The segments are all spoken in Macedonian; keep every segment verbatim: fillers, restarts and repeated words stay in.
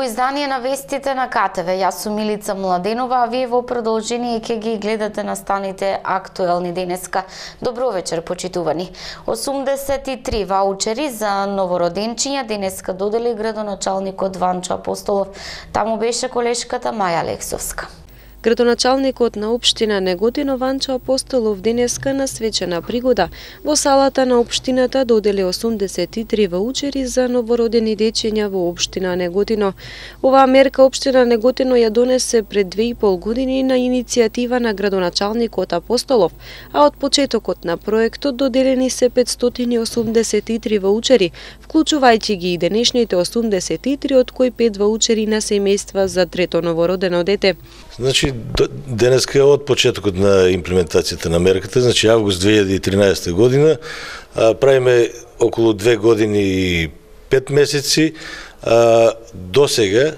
во издание на вестите на К Т В. Јас сум Милица Младенова, а вие во продолжение ќе ги гледате настаните актуелни денеска. Добро вечер, почитувани. осумдесет и три ваучери за новороденчиња денеска додели градоначалникот Ванчо Апостолов. Таму беше колешката Маја Алексовска. Градоначалникот на општина Неготино Ванчо Апостолов денеска на свечена пригода во салата на општината додели осумдесет и три ваучери за новородени дечиња во општина Неготино. Оваа мерка општина Неготино ја донесе пред две и пол години на иницијатива на градоначалникот Апостолов, а од почетокот на проектот доделени се петстотини осумдесет и три ваучери, вклучувајќи ги и денешните осумдесет и три, од кои пет ваучери на семејства за трето новородено дете. Значи, денеска од почетокот на имплементацијата на мерката, значи август две илјади и тринаесета година, а, правиме околу две години и пет месеци, а, до сега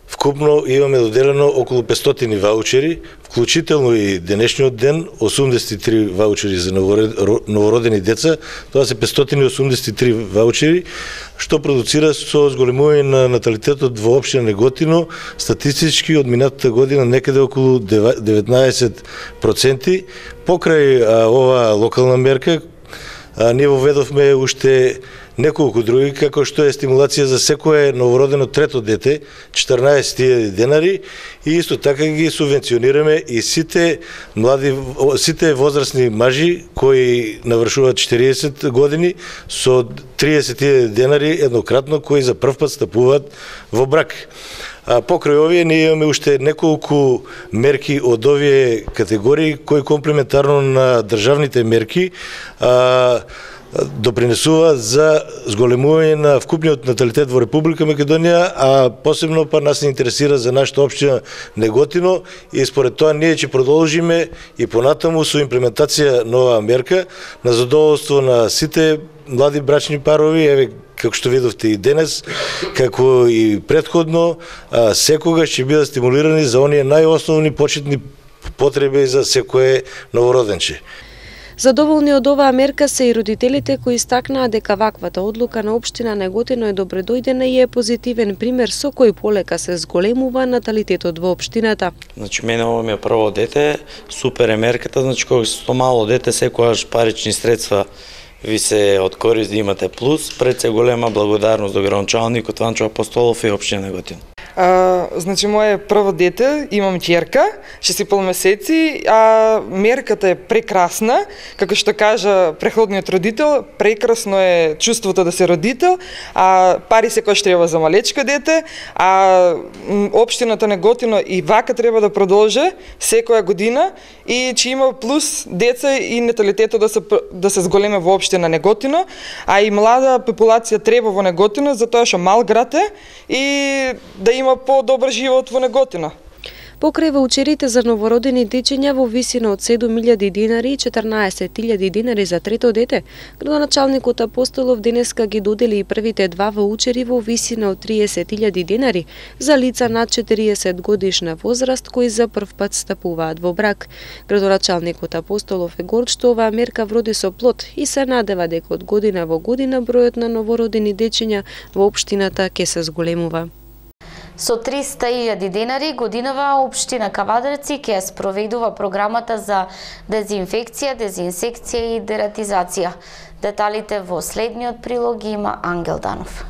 вкупно имаме доделено околу петстотини ваучери, вклучително и денешниот ден, осумдесет и три ваучери за новородени деца, тоа се петстотини осумдесет и три ваучери, што продуцира со зголемување на наталитетот во општина Неготино, статистички од минатата година некаде околу деветнаесет проценти. Покрај а, ова локална мерка, а, ние воведовме уште неколку други, како што е стимулација за секое новородено трето дете, четрнаесет илјади денари, и исто така ги субвенционираме и сите млади, сите возрастни мажи кои навршуваат четириесет години со триесет илјади денари еднократно, кои за прв пат стапуваат во брак. А покрај овие ние имаме уште неколку мерки од овие категории кои комплементарно на државните мерки а, допринесува за зголемување на вкупниот наталитет во Република Македонија, а посебно па нас не интересира за нашата општина Неготино, и според тоа ние ќе продолжиме и понатаму со имплементација на оваа мерка на задоволство на сите млади брачни парови. Еве, како што видовте и денес, како и претходно, секогаш ќе бидат стимулирани за оние најосновни почетни потреби за секое новороденче. Задоволни од оваа мерка се и родителите кои истакнаа дека ваквата одлука на општина Неготино е добредојдена и е позитивен пример со кој полека се зголемува наталитетот во општината. Значи, мене ова ми е прво дете, супер е мерката, значи кога со мало дете секогаш парични средства ви се од корист да имате плюс, пред се голема благодарност до градоначалникот Ванчо Апостолов и општина Неготино. А, значи, моје прво дете, имам ќерка, шестнадесет месеци, а мерката е прекрасна, како што кажа преходниот родител, прекрасно е чувството да се родител, а пари секој треба за малечко дете, а општината Неготино и вака треба да продолжи секоја година и че има плюс деца и наталитетот да се да се зголеме во општина Неготино, а и млада популација треба во Неготино, затоа што мал град е и да има по-добар живот во Неготино. Покрај ваучерите за новородени дечиња во висина од седум илјади динари и четрнаесет илјади динари за трето дете, градоначалникот Апостолов денеска ги додели и првите два ваучери во висина од триесет илјади динари за лица над четириесет годишна возраст кои за прв пат стапуваат во брак. Градоначалникот Апостолов е горд што оваа мерка вроди со плод и се надева дека од година во година бројот на новородени дечиња во општината ќе се зголемува. Со триста илјади денари годинава општина Кавадарци ќе спроведува програмата за дезинфекција, дезинсекција и дератизација. Деталите во следниот прилог има Ангел Данов.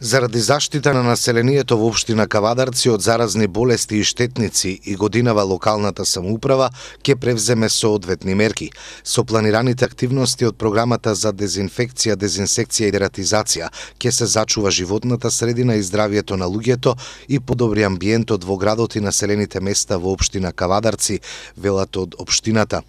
Заради заштита на населението во општина Кавадарци од заразни болести и штетници и годинава локалната самоуправа ќе превземе соодветни мерки. Со планираните активности од програмата за дезинфекција, дезинсекција и дератизација ќе се зачува животната средина и здравието на луѓето и подобри амбиентот во градот и населените места во општина Кавадарци, велат од општината.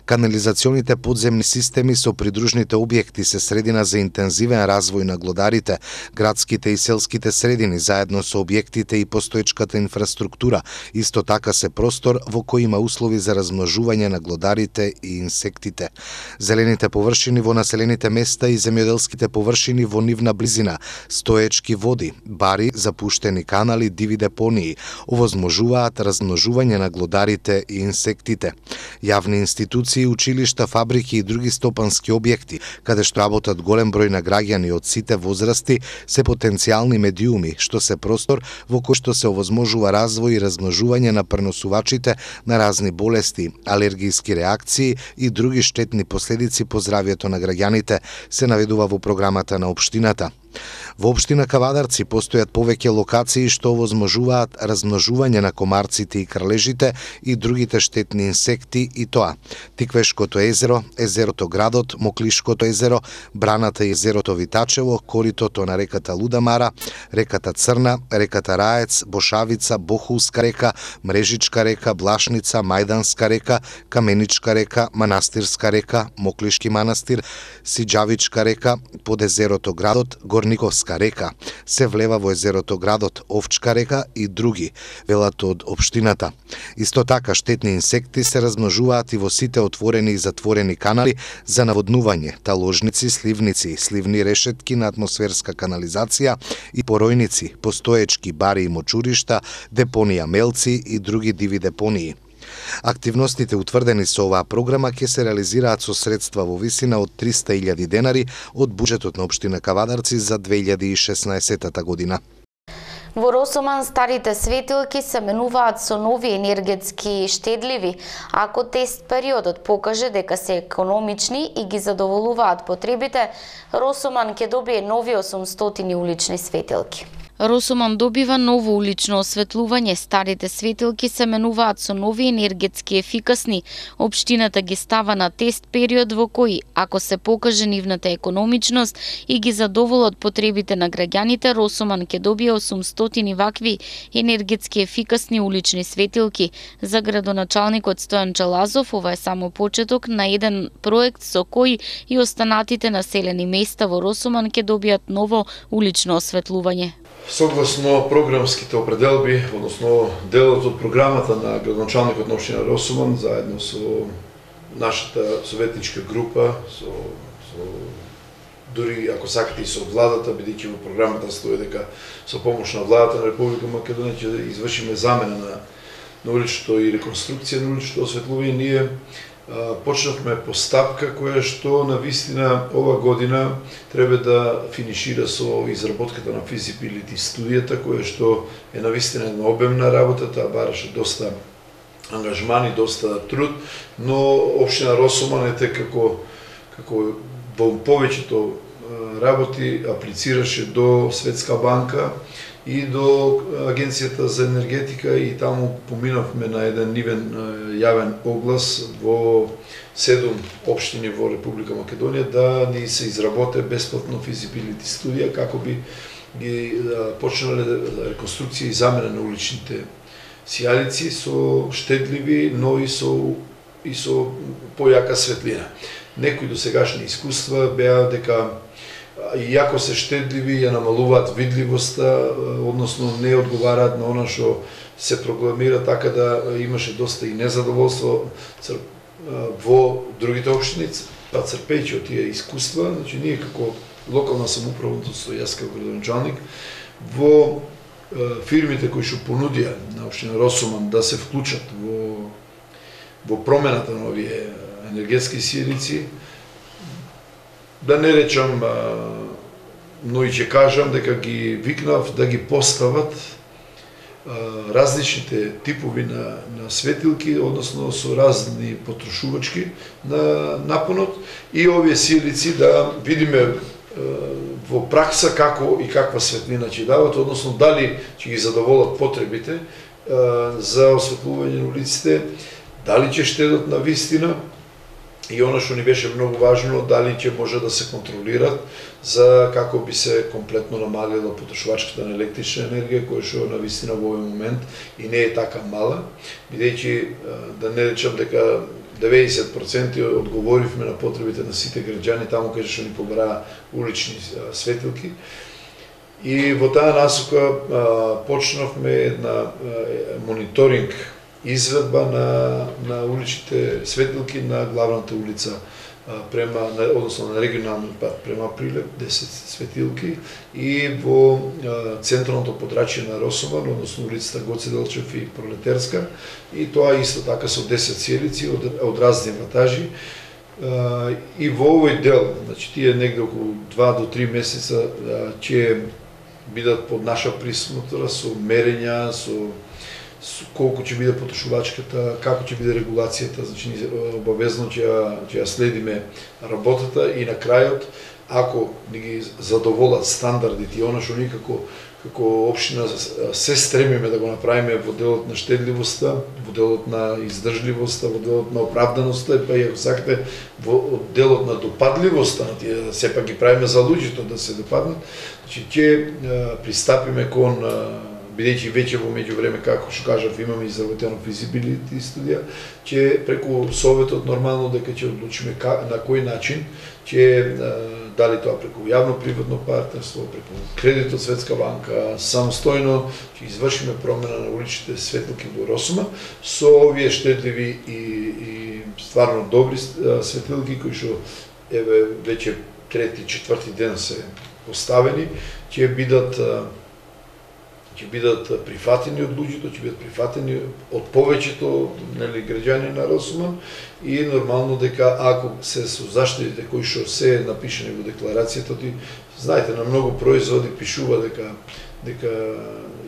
Канализационите подземни системи со придружните објекти се средина за интензивен развој на глодарите, градските и селските средини заедно со објектите и постоечката инфраструктура. Исто така се простор во кој има услови за размножување на глодарите и инсектите. Зелените површини во населените места и земјоделските површини во нивна близина, стоечки води, бари, запуштени канали, диви депонии овозможуваат размножување на глодарите и инсектите. Јавни институции, училишта, фабрики и други стопански објекти, каде што работат голем број на граѓани од сите возрасти, се потребни потенцијални медиуми, што се простор во кој што се овозможува развој и размножување на преносувачите на разни болести, алергиски реакции и други штетни последици по здравјето на граѓаните, се наведува во програмата на општината. Во општина Кавадарци постојат повеќе локации што овозможуваат размножување на комарците и крлежите и другите штетни инсекти, и тоа: Тиквешкото езеро, езерото Градот, Моклишкото езеро, браната и езерото Витачево, коритото на реката Лудамара, реката Црна, реката Раец, Бошавица, Бохулска река, Мрежичка река, Блашница, Мајданска река, Каменичка река, Манастирска река, Моклишки манастир, Сиџавичка река, под езерото Градот, Горниковска река, се влева во езерото Градот, Овчка река и други, велат од општината. Исто така, штетни инсекти се размножуваат и во сите отворени и затворени канали за наводнување, таложници, сливници, сливни решетки на атмосферска канализација и поројници, постоечки бари и мочуришта, депонија мелци и други диви депонии. Активностите утврдени со оваа програма ќе се реализираат со средства во висина од триста илјади денари од буџетот на општина Кавадарци за две илјади и шеснаесетта година. Во Росоман старите светилки се менуваат со нови енергетски штедливи, ако тест периодот покаже дека се економични и ги задоволуваат потребите, Росоман ќе добие нови осумстотини улични светилки. Росоман добива ново улично осветлување, старите светилки се менуваат со нови енергетски ефикасни. Општината ги става на тест период во кој, ако се покаже нивната економичност и ги задоволат потребите на граѓаните, Росоман ќе добие осумстотини вакви енергетски ефикасни улични светилки. За градоначалникот Стојан Чалазов, ова е само почеток на еден проект со кој и останатите населени места во Росоман ќе добијат ново улично осветлување. Согласно програмските определби, односно делот од програмата на градоначалникот на општина Росоман, заедно со нашата советничка група, со, со дури ако сакате и со владата, бидејќи во програмата стои дека со помош на владата на Република Македонија ќе извршиме замена на, на уличното и реконструкција на уличното осветлување, ние почнавме постапка која што на вистина ова година треба да финишира со изработката на feasibility студијата, која што е на вистина една обемна работа, таа бараше доста ангажман и доста труд, но општина Росоман ете како како во повеќето работи аплицираше до Светска банка и до Агенцијата за енергетика и таму поминавме на еден нивен јавен оглас во седум општини во Република Македонија да ни се изработе бесплатно feasibility студија како би ги почнале реконструкција и замена на уличните сијалици со штедливи, но и со и со појака светлина. Некои досегашни искуства беа дека иако се штедливи, ја намалуваат видливоста, односно не одговараат на она што се прокламира, така да имаше доста и незадоволство во другите општини, па црпејќи од тие искуства, значи ние како локална самоуправа, со јас како градоначалник, во фирмите кои што понудија на општина Росоман да се вклучат во во промената на овие енергетски сијалици, да не речам, но и ќе кажам дека ги викнав да ги постават различните типови на, на светилки, односно со разни потрошувачки на напонот и овие сијалици да видиме во пракса како и каква светлина ќе дават, односно дали ќе ги задоволат потребите за осветлување на улиците, дали ќе штедат на вистина. И оно што ни беше многу важно, дали ќе може да се контролират за како би се комплетно намалила потрошувачката на електрична енергија, која што на вистина во овој момент и не е така мала, бидејќи да не речам дека деветдесет проценти одговоривме на потребите на сите граѓани таму каде што ни побраа улични светилки. И во таа насока почнавме една мониторинг изведба на, на уличните светилки на главната улица према, односно на регионалниот пат према Прилеп, десет светилки и во централното подрачје на Росоман, односно улицата Гоце Делчев и Пролетерска, и тоа исто така со десет сијалици од, од разни ватажи. И во овој дел, значи тие негде околу два до три месеца ќе бидат под наша присмотра со мерења, со колку ќе биде потрошувачката, како ќе биде регулацијата, значи обавезно ќе ја, ќе ја следиме работата и на крајот, ако ни ги задоволат стандардите и она што ние како како општина се стремиме да го направиме во делот на штедливоста, во делот на издржливоста, во делот на оправданоста, па и ако сакате во делот на допадливоста, на тие сепак ги правиме за луѓето да се допаднат, значи ќе пристапиме кон, бидејќи веќе во меѓувреме, како што кажав, имаме изработено feasibility студија, ќе преку советот нормално дека ќе одлучиме на кој начин ќе, дали тоа преку јавно-приватно партнерство, преку кредит од Светска банка, самостојно ќе извршиме промена на уличните светилки во Росума со овие штедливи и, и стварно добри светилки кои што еве веќе трети, четврти ден се поставени, ќе бидат ќе бидат прифатени од луѓето, ќе бидат прифатени од повеќето, нели, граѓани на Росуман и нормално дека ако се со заштитите кои што се напишени во декларацијата, ти знаете, на многу производи пишува дека дека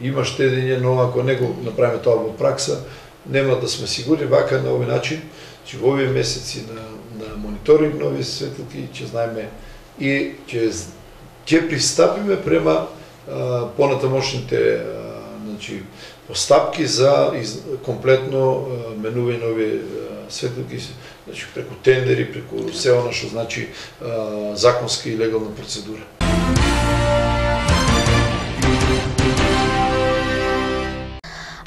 има штедење, но ако не го направиме тоа во пракса, нема да сме сигурни. Вака на овој начин, че во овие месеци на, на мониторинг на овие светилки ќе знаеме и ќе ќе пристапиме према понатамошните, значи, постапки за из, комплетно менување на овие светилки, значи преку тендери, преку се она што значи законска и легална процедура.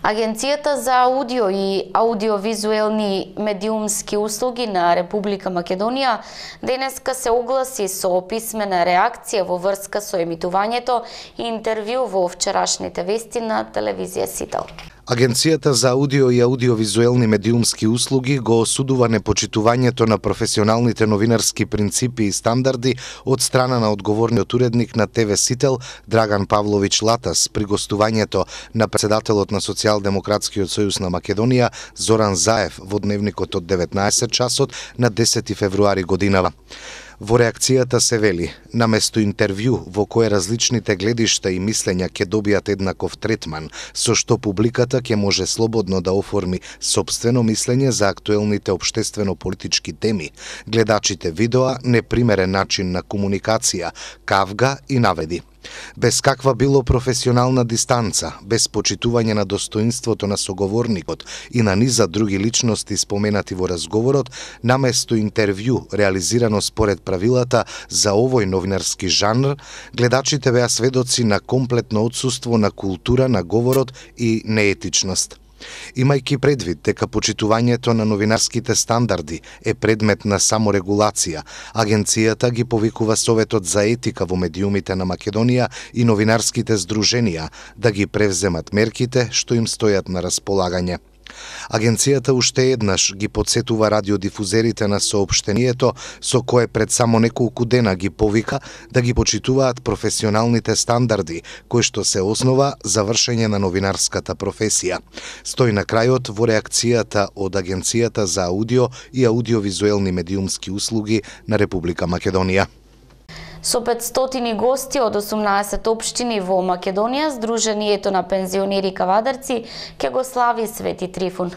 Агенцијата за аудио и аудиовизуелни медиумски услуги на Република Македонија денеска се огласи со писмена реакција во врска со емитувањето и интервју во вчерашните вести на телевизија Сител. Агенцијата за аудио и аудиовизуелни медиумски услуги го осудува непочитувањето на професионалните новинарски принципи и стандарди од страна на одговорниот уредник на ТВ Сител Драган Павлович Латас при гостувањето на претседателот на Социјалдемократскиот сојуз на Македонија Зоран Заев во дневникот од деветнаесет часот на десети февруари годинава. Во реакцијата се вели, наместо интервју во кое различните гледишта и мислења ќе добијат еднаков третман, со што публиката ќе може слободно да оформи сопствено мислење за актуелните општествено-политички теми, гледачите видоа непримерен начин на комуникација, кавга и наведи. Без каква било професионална дистанца, без почитување на достоинството на соговорникот и на низа други личности споменати во разговорот, наместо интервју реализирано според правилата за овој новинарски жанр, гледачите беа сведоци на комплетно отсуство на култура на говорот и неетичност. Имајќи предвид дека почитувањето на новинарските стандарди е предмет на саморегулација, агенцијата ги повикува Советот за етика во медиумите на Македонија и новинарските здруженија да ги превземат мерките што им стојат на располагање. Агенцијата уште еднаш ги подсетува радиодифузерите на соопштението со кое пред само неколку дена ги повика да ги почитуваат професионалните стандарди, кои што се основа за вршење на новинарската професија. Стои на крајот во реакцијата од Агенцијата за аудио и аудиовизуелни медиумски услуги на Република Македонија. Со петстотини гости од осумнаесет општини во Македонија, Сдруженијето на пензионери кавадарци ќе го слави Свети Трифун.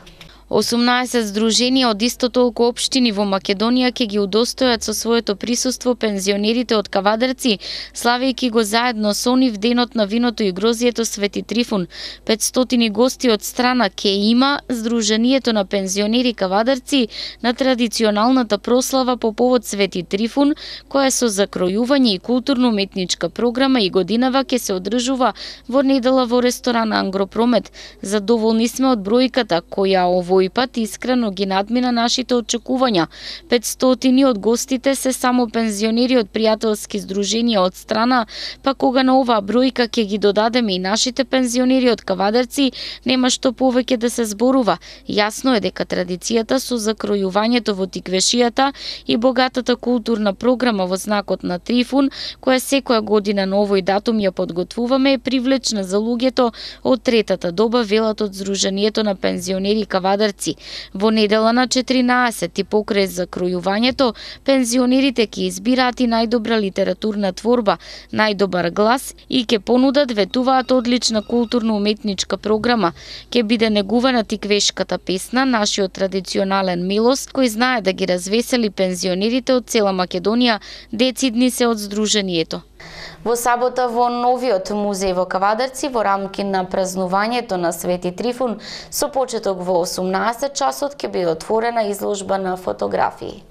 осумнаесет здруженија од исто толку општини во Македонија ќе ги удостојат со своето присуство пензионерите од Кавадарци, славејќи го заедно со нив денот на виното и грозието Свети Трифун. петстотини гости од страна ќе има Сдруженијето на пензионери Кавадарци на традиционалната прослава по повод Свети Трифун, која со закројување и културно-уметничка програма и годинава ќе се одржува во недела во ресторан Ангропромет. Задоволни сме од бројката која ово овој пат искрено ги надмина нашите очекувања. петстотини од гостите се само пензионери од пријателски здруженија од страна, па кога на оваа бројка ќе ги додадеме и нашите пензионери од Кавадарци, нема што повеќе да се зборува. Јасно е дека традицијата со закројувањето во тиквешијата и богатата културна програма во знакот на Трифун, која секоја година на овој датум ја подготвуваме, е привлечна за луѓето од третата доба, велат од Здруженијето на пензионери Кавадарци Кавадарци. Во недела на четиринаесети покрај закројувањето, пензионерите ќе избираат и најдобра литературна творба, најдобар глас и ќе понудат, ветуваат, одлична културно-уметничка програма. Ќе биде негувана тиквешката песна, нашиот традиционален милос, кој знае да ги развесели пензионерите од цела Македонија, децидни се од Сдруженијето. Во сабота во новиот музеј во Кавадарци, во рамки на празнувањето на Свети Трифун, со почеток во осумнаесет часот ќе биде отворена изложба на фотографии.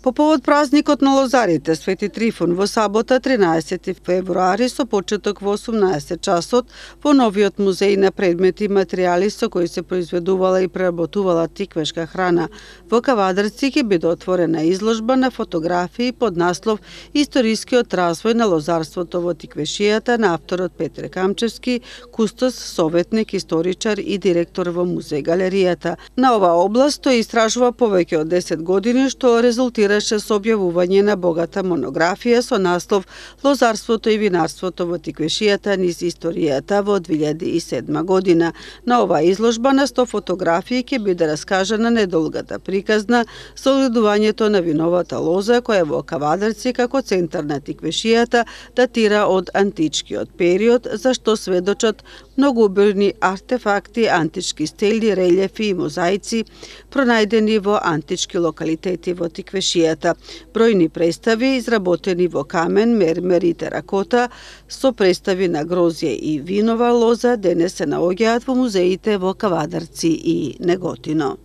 По повод празникот на лозарите Свети Трифун во сабота тринаесети февруари со почеток во осумнаесет часот во новиот музеј на предмети и материјали со кои се произведувала и преработувала тиквешка храна во Кавадарци ќе биде отворена изложба на фотографии под наслов Историскиот развој на лозарството во тиквешијата на авторот Петре Камчевски, кустос, советник, историчар и директор во музеј галеријата. На оваа област тој истражува повеќе од десет години, што резултираше со објавување на богата монографија со наслов Лозарството и винарството во тиквешијата низ историјата во две илјади и седма година. На оваа изложба на сто фотографии ќе биде раскажана недолгата приказна со огледувањето на виновата лоза која во Кавадарци како центар на тиквешијата датира од античкиот период, за што сведочат многоубавни артефакти, антички стели, релјефи и мозаици пронајдени во антички локалитети во тиквешијата. Бројни представи изработени во камен, мермер и теракота со представи на грозје и винова лоза денес се наоѓаат во музеите во Кавадарци и Неготино.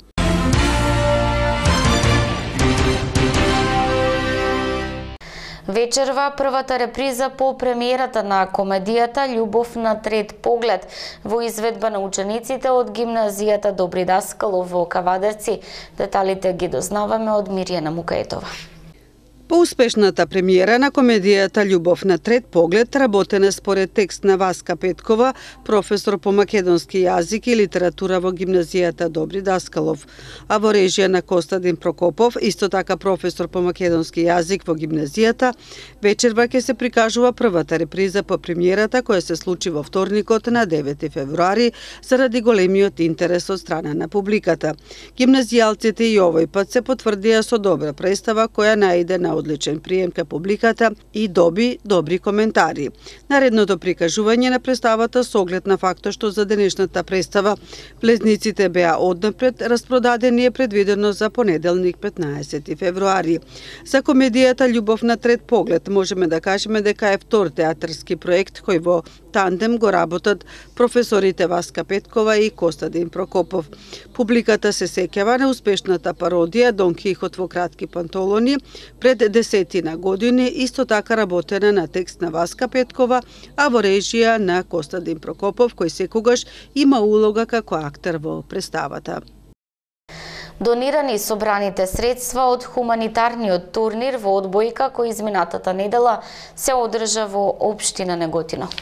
Вечерва првата реприза по премиерата на комедијата Љубов на трет поглед во изведба на учениците од гимназијата Добри Даскалов во Кавадарци. Деталите ги дознаваме од Мирјана Мукаетова. По успешната премиера на комедијата Љубов на трет поглед, работена според текст на Васка Петкова, професор по македонски јазик и литература во гимназијата Добри Даскалов, а во режија на Костадин Прокопов, исто така професор по македонски јазик во гимназијата, вечерва ќе се прикажува првата реприза по премиерата која се случи во вторникот на девети февруари заради големиот интерес од страна на публиката. Гимназијалците и овој пат се потврдија со добра представа која најде на одличен прием кај публиката и доби добри коментари. Наредното прикажување на представата со оглед на фактот што за денешната представа влезниците беа однапред распродадени е предвидено за понеделник петнаесети февруари. За комедијата Љубов на трет поглед можеме да кажеме дека е втор театарски проект кој во тандем го работат професорите Васка Петкова и Костадин Прокопов. Публиката се сеќава на успешната пародија Дон Кихот во кратки пантолони пред десетина години, исто така работена на текст на Васка Петкова, а во режија на Костадин Прокопов, кој секогаш има улога како актер во представата. Донирани собраните средства од хуманитарниот турнир во одбојка кој изминатата недела се одржа во општина Неготино.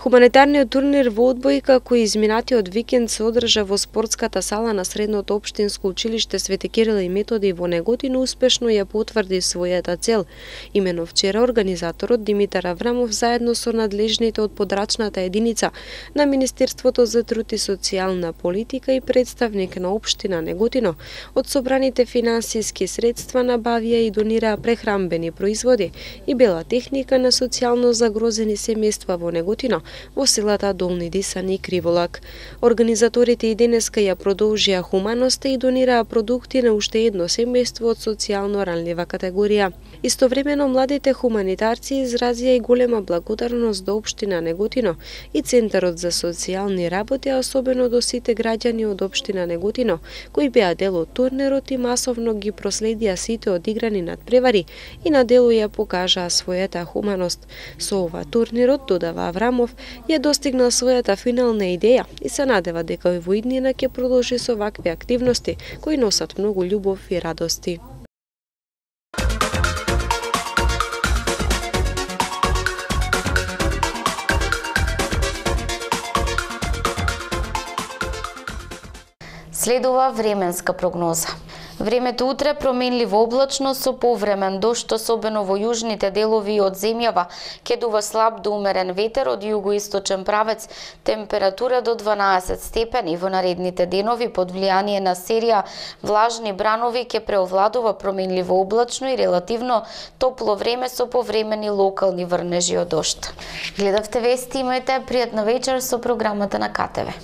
Хуманитарниот турнир во одбојка кој изминатиот викенд се одржа во спортската сала на Средното општинско училиште Свети Кирил и Методи во Неготино успешно ја потврди својата цел. Имено вчера организаторот Димитар Аврамов заедно со надлежните од подрачната единица на Министерството за труд и социјална политика и представник на општина Неготино од собраните финансиски средства набавија и донираа прехранбени производи и бела техника на социјално загрозени семејства во Неготино, во селата Долни Дисани и Криволак. Организаторите и денеска ја продолжија хуманоста и донираа продукти на уште едно семејство од социјално ранлива категорија. Истовремено младите хуманитарци изразија и голема благодарност до општина Неготино и Центарот за социјални работи, а особено до сите граѓани од општина Неготино, кои беа дел од турнирот и масовно ги проследија сите одиграни надпревари и на дело ја покажаа својата хуманост. Со ова турнирот, додава Аврамов, ја достигнал својата финална идеја и се надева дека во иднина ќе продолжи со вакви активности кои носат многу љубов и радости. Следува временска прогноза. Времето утре променливо облачно со повремен дожд, особено во јужните делови од земјава, ќе дува слаб до умерен ветер од југоисточен правец, температура до дванаесет степени. Во наредните денови под влијание на серија влажни бранови ќе преовладува променливо облачно и релативно топло време со повремени локални врнежи од дожд. Гледавте вести, имајте пријатна вечер со програмата на ка те ве.